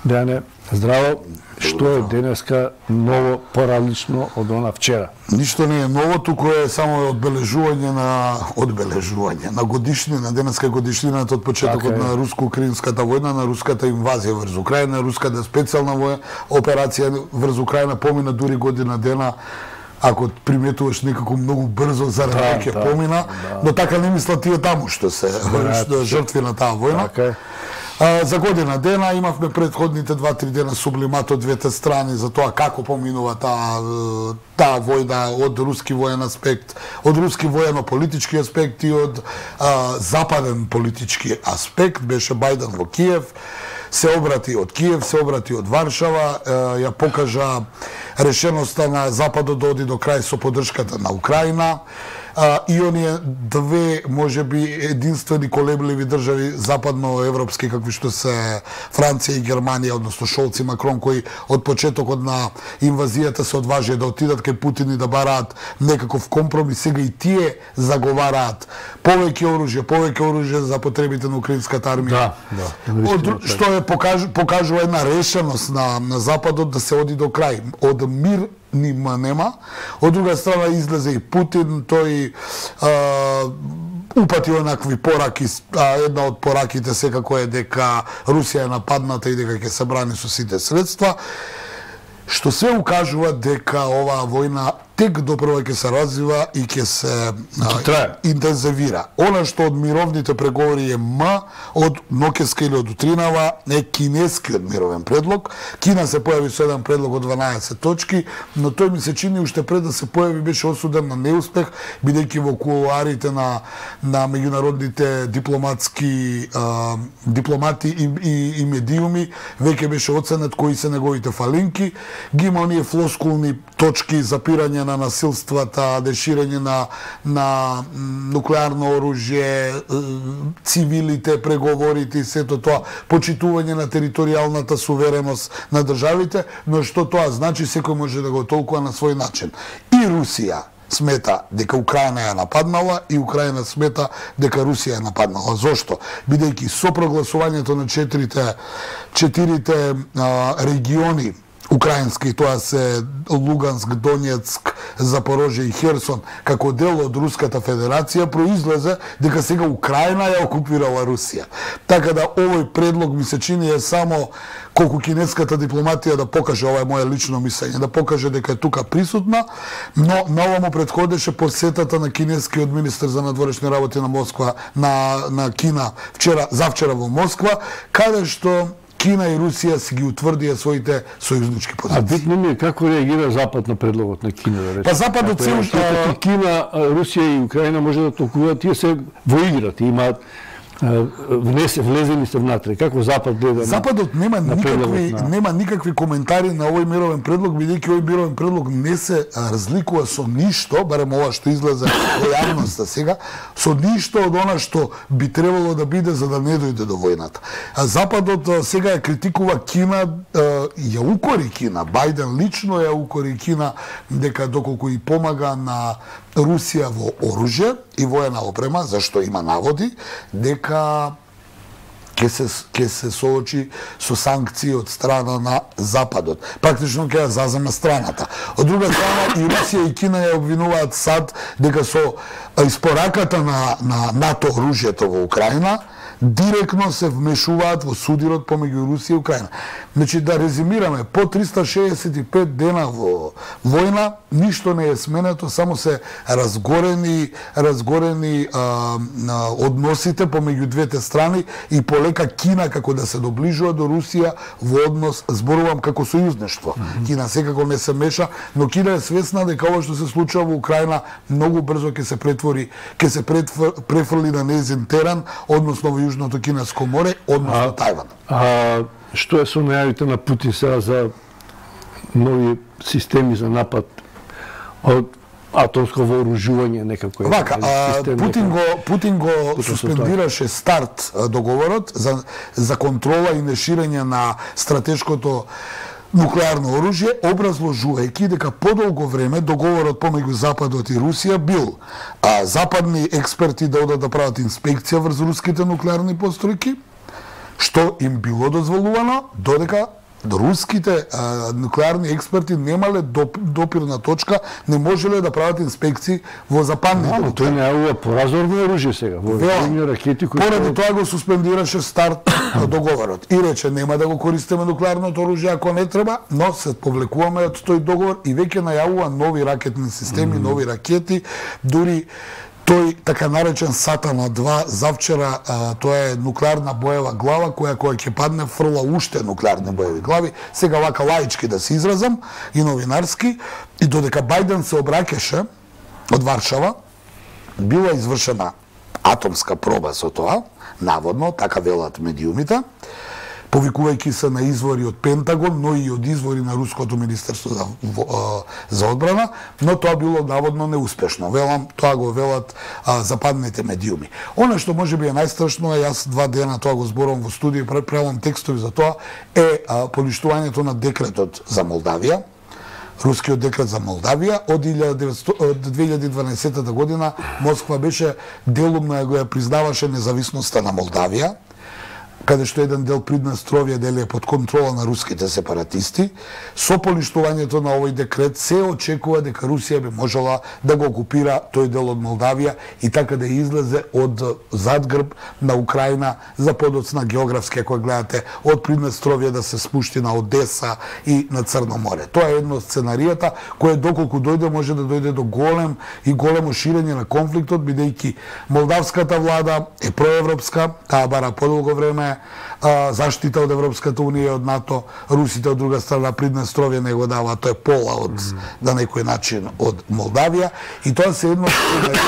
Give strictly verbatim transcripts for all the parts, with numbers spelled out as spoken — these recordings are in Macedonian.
Дејане, здраво. Што е денеска ново, поразлично од она вчера? Ништо не е ново, туку е само одбележување на одбележување на годишнина, денеска годишнината од почетокот на руско-украинската војна, на руската инвазија врз Украина, руската специјална војна операција врз Украина помина дури година дена. Ако приметуваш некако многу брзо за раке да, помина, да. Но така не мислат тие таму што се што жртви на таа војна. Така. А, за година дена имавме предходните два-три дена сублимат од двете страни за тоа како поминува таа таа војна од руски воен аспект, од руски воено-политички аспект и од а, западен политички аспект. Беше Бајден во Киев, се обрати од Киев, се обрати од Варшава, ја покажа решеноста на Западот да оди до крај со поддршката на Украина. И оние две, може би, единствени колебливи држави западноевропски, какви што се Франција и Германија, односно Шолц и Макрон, кои од почетокот на инвазијата се одважија да отидат кај Путин и да бараат некаков компромис. Сега и тие заговараат повеќе оружје, повеќе оружје за потребите на украинската армија. Да, да. Од, што е покаж, покажува една решеност на, на Западот да се оди до крај. Од мир нима нема. Од друга страна излезе и Путин, тој а, упати онакви пораки, а една од пораките секако е дека Русија е нападната и дека ќе се брани со сите средства, што се укажува дека оваа војна тек допрва ќе се развива и ќе се а, интензивира. Она што од мировните преговори е М, од Нокеска или од утринава е кинескиот мировен предлог. Кина се појави со еден предлог од дванаесет точки, но тој ми се чини уште пред да се појави беше осуден на неуспех, бидејќи во кулуарите на на меѓународните дипломатски а, дипломати и, и, и медиуми веќе беше оценет кои се неговите фалинки. Ги има оние флоскулни точки, запирање на насилствата, деширање на, на нуклеарно оружје, цивилите, преговорите и сето тоа, почитување на територијалната сувереност на државите, но што тоа значи секој може да го толкува на свој начин. И Русија смета дека Украина ја нападнала и Украина смета дека Русија ја нападнала. Зошто? Бидејќи со прогласувањето на четирите, четирите а, региони украински, тоа се Луганск, Донецк, Запорожје и Херсон, како дел од Руската Федерација, произлезе дека сега Украина ја окупирала Русија. Така да овој предлог ми се чини е само колку кинеската дипломатија да покаже, ова е моје лично мислење, да покаже дека е тука присутна, но на ова му предходеше посетата на кинескиот министер за надворешни работи на Москва, на, на Кина, вчера, завчера во Москва, каде што Кина и Русија си ги утврдија своите сојузнички позиции. А битно ми е како реагира Запад на предлогот на Кина, да речем. Па Западот се уште Кина, Русија и Украина може да толкуваат, тие се во играта, имаат внесе влезени се внатре. Како Запад гледа? Западот нема на никакви на... нема никакви коментари на овој мировен предлог, бидејќи овој мировен предлог не се разликува со ништо, барем ова што излезе во јавноста сега, со ништо од она што би требало да биде за да не дојде до војната. А Западот сега ја критикува Кина, ја укори Кина, Бајден лично ја укори Кина дека доколку и помага на Русија во оружје и воена опрема, зашто има наводи дека ќе се ќе се соочи со санкции од страна на Западот. Практично ќе ја заземе страната. Од друга страна и Русија и Кина ја обвинуваат САД дека со испораката на на НАТО оружјето во Украина директно се вмешуваат во судирот помеѓу Русија и Украина. Значи, да резимираме, по триста шеесет и пет дена во војна, ништо не е сменето, само се разгорени, разгорени а, а, односите помеѓу двете страни и полека Кина како да се доближува до Русија во однос, зборувам како сојузнештво. Mm -hmm. Кина секако не се меша, но Кина е свесна дека ова што се случува во Украина многу брзо ќе се претвори, ќе се префрли на нејзин терен, односно во Јужното Кинеско море, односно Тајван. А што е со најавите на Путин сега за нови системи за напад од атомско вооружување некако? Вака, а, Путин го Путин го суспендираше старт договорот за за контрола и неширење на стратешкото нуклеарно оружје, образложувајќи дека подолго време договорот помеѓу Западот и Русија бил а, западни експерти да одат да прават инспекција врз руските нуклеарни постројки, што им било дозволувано, додека руските а, нуклеарни експерти немале доп, допирна точка, не можеле да прават инспекции во западните. Но тој не е поразорно оружје сега, во ракети кои поради тоа го суспендираше старт на договорот и рече нема да го користиме нуклеарното оружје ако не треба, но се повлекуваме од тој договор и веќе најавува нови ракетни системи, mm. нови ракети, дури тој така наречен Сатана два завчера, а, тоа е нуклеарна боева глава која која ќе падне фрла уште нуклеарни боеви глави. Сега вака лаички да се изразам и новинарски, и додека Бајден се обраќаше од Варшава, била извршена атомска проба со тоа, наводно, така велат медиумите, повикувајќи се на извори од Пентагон, но и од извори на Руското министерство за, за одбрана, но тоа било наводно неуспешно. Велам, тоа го велат а, западните медиуми. Она што можеби е најстрашно, е јас два дена тоа го зборувам во студија, правам текстови за тоа, е а, поништувањето на декретот за Молдавија, рускиот декрет за Молдавија. Од две илјади и дванаесетта година Москва беше делумно ја го ја признаваше независноста на Молдавија, каде што еден дел Приднестровје дели е под контрола на руските сепаратисти. Со поништувањето на овој декрет се очекува дека Русија би можела да го окупира тој дел од Молдавија и така да излезе од задгрб на Украина за подоцна географски, ако гледате, од Приднестровје да се спушти на Одеса и на Црно море. Тоа е едно од сценаријата кој доколку дојде може да дојде до голем и големо ширење на конфликтот, бидејќи молдавската влада е проевропска, таа бара подолго време заштита од Европската унија, од НАТО, русите од друга страна Приднестровје не го дава, тоа е пола од mm. на некој начин од Молдавија, и тоа се едно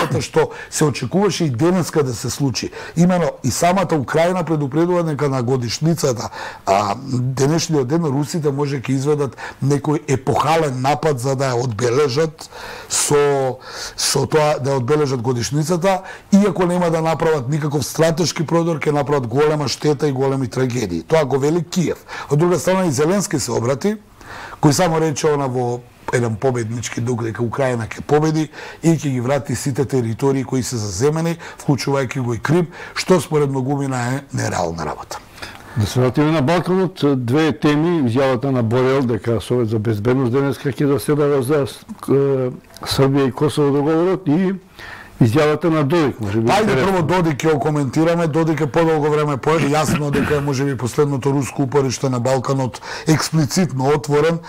од што се очекуваше и денеска да се случи. Имено и самата Украина предупредува дека на годишницата, а денешниот ден русите може ќе изведат некој епохален напад за да ја одбележат со со тоа да ја одбележат годишницата, иако нема да направат никаков стратешки продор, ќе направат голема штета и големи трагедии. Тоа го вели Киев. Од друга страна и Зеленски се обрати, кој само рече она во еден победнички дух дека Украина ќе победи и ќе ги врати сите територии кои се заземени, вклучувајќи го и Крим, што според многумина е нереална работа. Да се вратиме на Балканот, две теми, изјавата на Борел дека Совет за безбедност денеска ќе заседава за Србија и Косово договорот и изјавата на Додик, можеби. Ајде прво Додик ќе го коментираме. Додик е подолго време поет, јасно дека е можеби последното руско упориште на Балканот експлицитно отворен.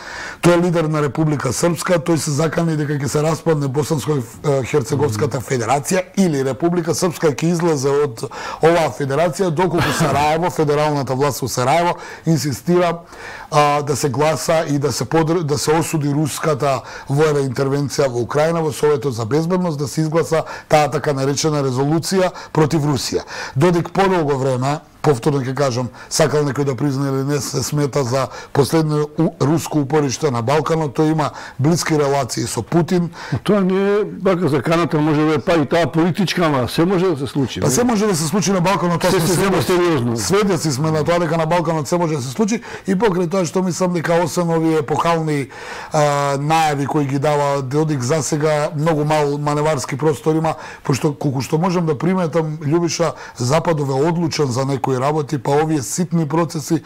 Тој е лидер на Република Српска, тој се закани дека ќе се распадне Босанско-Херцеговската федерација или Република Српска ќе излезе од оваа федерација, доколку Сараево, федералната власт во Сараево инсистира а, да се гласа и да се подр... да се осуди руската воена интервенција во Украина во Советот за безбедност, да се изгласа таа така наречена резолуција против Русија. Додик подолго време, повторно ќе кажам, сакал некој да призна или не, се смета за последно руско упориште на Балканот, тој има блиски релации со Путин. Тоа не е бака заканата, може да е па и таа политичка, ама се може да се случи. Па се може да се случи на Балканот, тоа се се сериозно. Сведоци сме на тоа дека на Балканот се може да се случи, и покрај тоа што мислам дека освен овие епохални а, најави кои ги дава Додик, засега многу мал маневарски простор има, пошто колку што можам да приметам, Љубиша, Западов е одлучен за некои работи, па овие ситни процеси,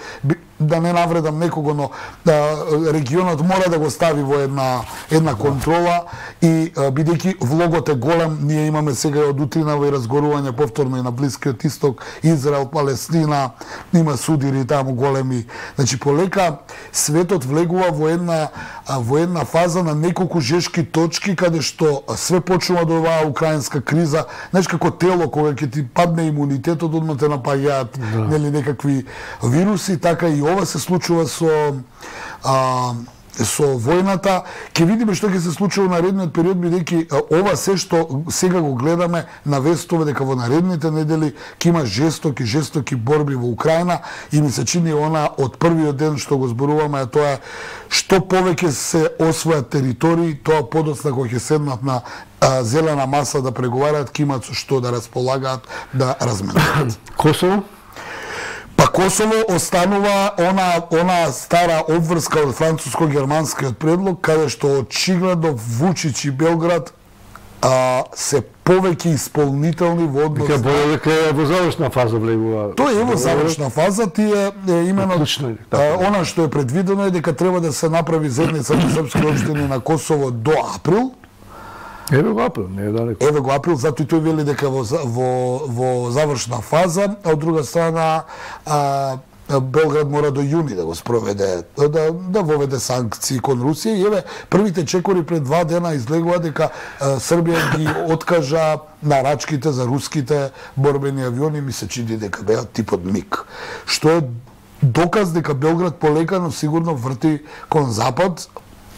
да не навредам некого, но да, регионот мора да го стави во една една контрола и бидејќи влогот е голем, ние имаме сега од утрина во разгорување повторно и на Блискиот Исток, Израел, Палестина, има судири таму големи. Значи полека светот влегува во една во една фаза на неколку жешки точки каде што све почнува до оваа украинска криза, знаеш како тело кога ќе ти падне имунитетот, одма те напаѓаат да. нели некакви вируси, така и ова се случува со а, со војната. Ќе видиме што ќе се случува во наредниот период, бидејќи ова се што сега го гледаме на вестове дека во наредните недели ќе има жестоки жестоки борби во Украина, и ми се чини она од првиот ден што го зборуваме, а тоа е што повеќе се освојат територии, тоа подоцна кога ќе седнат на а, зелена маса да преговараат, ќе имаат со што да располагаат, да разменуваат. Косово? Па Косово останува она она стара обврска од француско-германскиот предлог, каде што очигледно Вучич и Белград а, се повеќе исполнителни во однос. Дека Борел дека е во завршна фаза влегува. Тој е во завршна фаза, тие е имено а, она што е предвидено е дека треба да се направи заедница на српски општини на Косово до април. Еве го април, не е далеко. Еве го април, затоа и тој вели дека во во во завршна фаза, а од друга страна а, Белград мора до јуни да го спроведе, да, да воведе санкции кон Русија. И еве, првите чекори пред два дена излегува дека а, Србија ги откажа нарачките за руските борбени авиони, ми се чини дека беа типот МиГ. Што е доказ дека Белград полека, но сигурно врти кон запад,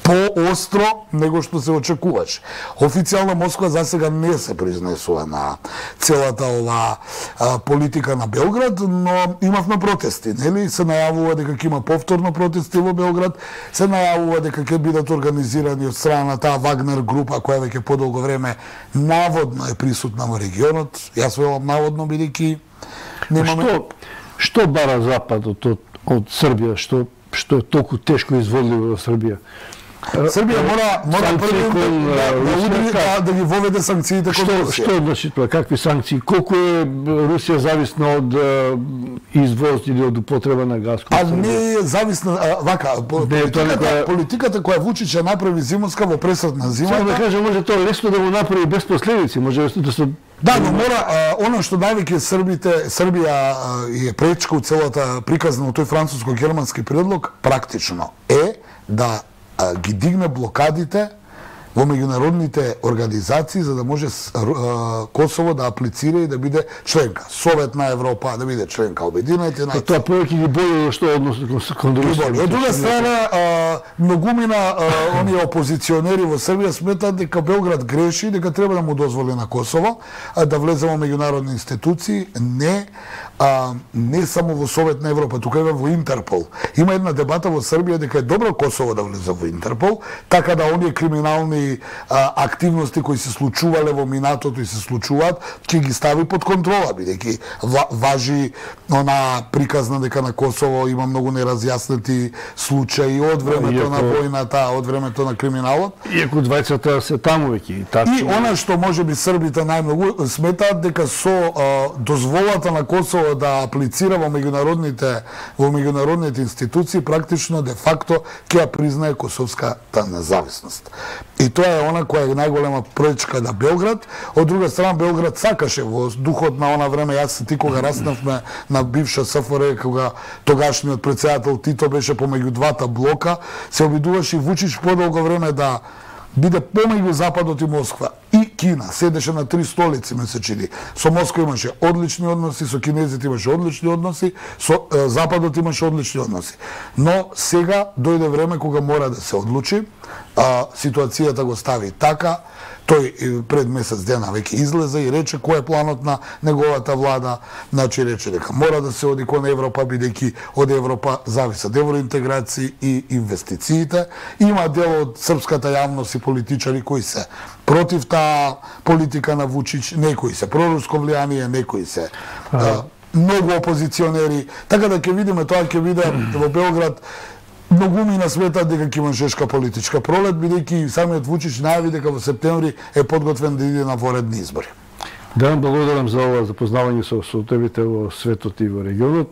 поостро него што се очекуваше. Официјално Москва за сега не се произнесува на целата ова а, политика на Белград, но имавме протести, нели? Се најавува дека ќе има повторно протести во Белград, се најавува дека ќе бидат организирани од страна на таа Вагнер група која веќе подолго време наводно е присутна во регионот. Јас велам наводно бидејќи немаме. Што што бара Западот од, од Србија, што што е толку тешко изводливо во Србија? Србија мора мора прво да, да, да, да ги воведе санкциите кон Русија. Што значи тоа? Какви санкции? Колку е Русија зависна од извоз или од употреба на газ? А не е зависна, а, вака, политиката, нека... политиката која Вучич ја направи зимовска во пресртна зима. Само да кажа, може тоа лесно да го направи без последици, може лесно да се. Да, но мора, а, оно што највеќе Србите, Србија а, е пречка од целата приказна од тој француско-германски предлог, практично е да а, ги дигне блокадите во меѓународните организации за да може а, Косово да аплицира и да биде членка. Совет на Европа да биде членка Обединените нации. Тоа повеќе ги боли што односно кон Русија. Од друга страна, а, многумина а, оние опозиционери во Србија сметат дека Белград греши, дека треба да му дозволи на Косово а, да влезе во меѓународни институции, не а, не само во Совет на Европа, тука е во Интерпол. Има една дебата во Србија дека е добро Косово да влезе во Интерпол, така да оние криминални а, активности кои се случувале во минатото и се случуваат, ќе ги стави под контрола, бидејќи важи она приказна дека на Косово има многу неразјаснети случаи од времето иако, на војната, од времето на криминалот. Иако двајцата се таму веќе. И она што можеби србите најмногу сметаат дека со а, дозволата на Косово да аплицира во меѓународните во меѓународните институции, практично де факто ќе ја признае косовската независност. И тоа е она која е најголема пречка на Белград. Од друга страна, Белград сакаше во духот на она време, јас и ти кога раснавме на бивша СФР, кога тогашниот претседател Тито беше помеѓу двата блока, се обидуваше и Вучич подолго време да биде помеѓу Западот и Москва. И Кина седеше на три столици, ме се чини. Со Москва имаше одлични односи, со кинезите имаше одлични односи, со е, Западот имаше одлични односи. Но сега дојде време кога мора да се одлучи, а, ситуацијата го стави така, тој пред месец дена веќе излезе и рече кој е планот на неговата влада, значи рече дека мора да се оди кон Европа, бидејќи од Европа зависат евроинтеграции и инвестициите. Има дел од српската јавност и политичари кои се против таа политика на Вучич, некои се проруско влијание, некои се а, многу опозиционери, така да ќе видиме, тоа ќе биде во Белград. Многумина сметат дека ќе има жешка политичка пролет, бидејќи самиот Вучич најави дека во септември е подготвен да иде на воредни избори. Да, благодарам за ова запознавање со сотобите во светот и во регионот.